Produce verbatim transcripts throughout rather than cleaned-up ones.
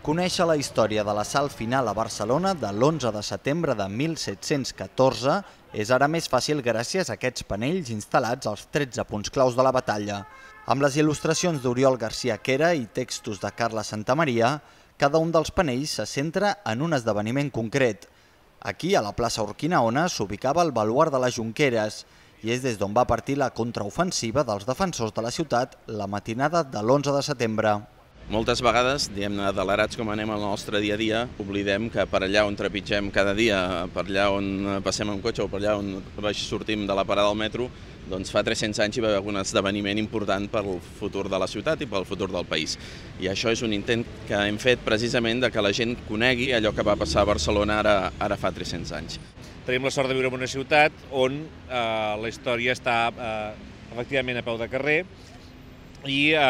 Conèixer la història de l'assalt final a Barcelona de l'onze de setembre de mil set-cents catorze és ara més fàcil gràcies a aquests panells instal·lats als tretze punts claus de la batalla. Amb les il·lustracions d'Oriol García Quera i textos de Carla Santamaria, cada un dels panells se centra en un esdeveniment concret. Aquí, a la plaça Urquinaona, s'ubicava el baluard de les Jonqueres i és des d'on va partir la contraofensiva dels defensors de la ciutat la matinada de l'onze de setembre. Moltes vegades, diguem-ne, adelerats com anem al nostre dia a dia, oblidem que per allà on trepitgem cada dia, per allà on passem amb cotxe o per allà on sortim de la parada del metro, doncs fa tres-cents anys hi va haver un esdeveniment important pel futur de la ciutat i pel futur del país. I això és un intent que hem fet precisament de que la gent conegui allò que va passar a Barcelona ara, ara fa tres-cents anys. Tenim la sort de viure en una ciutat on eh, la història està eh, efectivament a peu de carrer, i eh,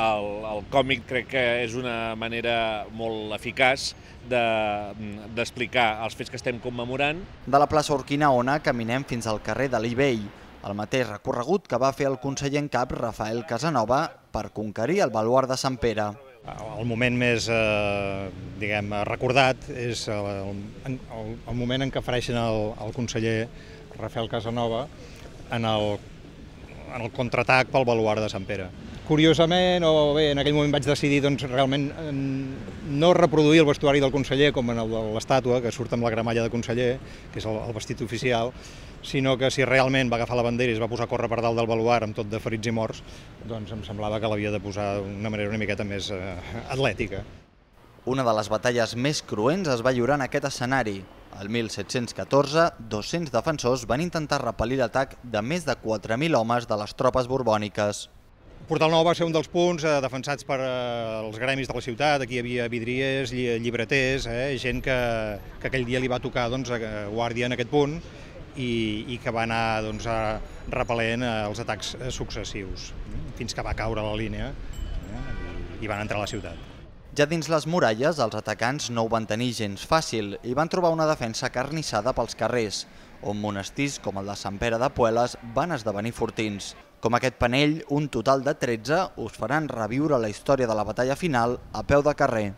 el, el còmic crec que és una manera molt eficaç d'explicar de, els fets que estem commemorant. De la plaça Urquinaona caminem fins al carrer de l'Ibell, el mateix recorregut que va fer el conseller en cap Rafael Casanova per conquerir el baluard de Sant Pere. El moment més eh, diguem, recordat és el, el, el moment en què apareixen el, el conseller Rafael Casanova en el en el contraatac pel baluard de Sant Pere. Curiosament, o bé, en aquell moment vaig decidir doncs, realment no reproduir el vestuari del conseller com en el de l'estàtua, que surt amb la gramalla de conseller, que és el, el vestit oficial, sinó que si realment va agafar la bandera i es va posar a córrer per dalt del baluard amb tot de ferits i morts, doncs em semblava que l'havia de posar d'una manera una miqueta més eh, atlètica. Una de les batalles més cruents es va lliurar en aquest escenari. El mil set-cents catorze, dos-cents defensors van intentar repel·lir l'atac de més de quatre mil homes de les tropes borbòniques. Portal Nou va ser un dels punts eh, defensats per eh, els gremis de la ciutat. Aquí hi havia vidriers, llibreters, eh, gent que, que aquell dia li va tocar doncs, guàrdia en aquest punt i, i que va anar doncs, repel·lent eh, els atacs successius, fins que va caure la línia eh, i, i van entrar a la ciutat. Ja dins les muralles, els atacants no ho van tenir gens fàcil i van trobar una defensa carnissada pels carrers, on monestirs com el de Sant Pere de Pueles van esdevenir fortins. Com aquest panell, un total de tretze us faran reviure la història de la batalla final a peu de carrer.